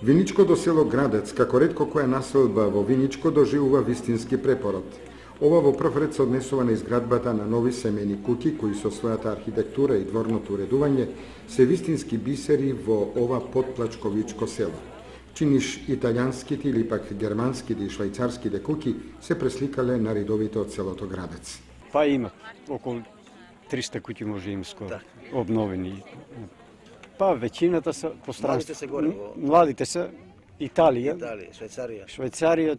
Виничко до село Градец, како ретко која населба во Виничко, доживува вистински препород. Ова во прв ред се однесува на изградбата на нови семејни куќи, кои со својата архитектура и дворното уредување се вистински бисери во ова подплачковичко село. Чиниш италијанските или пак германските и швајцарските куќи се пресликале на ридовите од селото Градец. Па има околу 300 куќи може им скоро обновени. Па веќината се пространство. Младите се Италија, Швајцарија,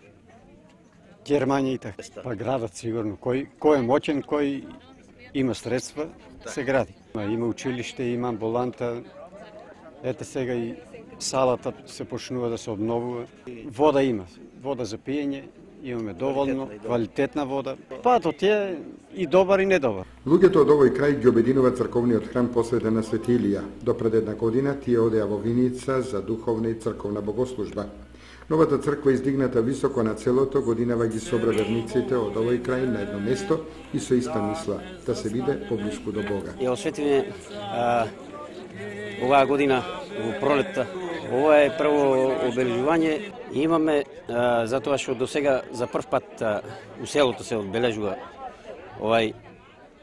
Германија и така. Па градат сигурно. Кој е моќен, кој има средства, се гради. Има училиште, има амбуланта. Ете сега и салата се почнува да се обновува. Вода има. Вода за пиење. Имаме доволно, квалитетна вода. Патот е и добар и недобар. Луѓето од овој крај ги обединува црковниот храм посветен на Свети Илија. До пред една година тие одеа во Виница за духовна и црковна богослужба. Новата црква издигната високо над селото годинава ги собра верниците од овој крај на едно место и со иста мисла да се биде поблиску до Бога. Ја осветиме оваа година во пролетта. Ова е прво обележување. Имаме затоа што до сега за прв пат у селото се одбележува овај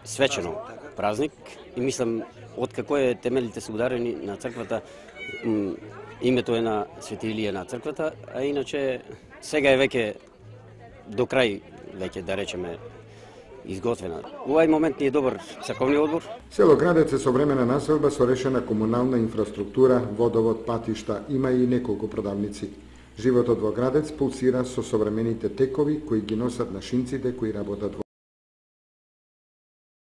свечено празник и мислам откако е темелите се ударени на црквата, името е на Свети Илија на црквата, а иначе сега е веќе до крај веќе да речеме изготвена. Овај момент ни е добар црковни одбор. Село Градец е современа населба со решена комунална инфраструктура, водовод, патишта, има и неколку продавници. Животот во Градец пулсира со современите текови кои ги носат нашинците кои работат во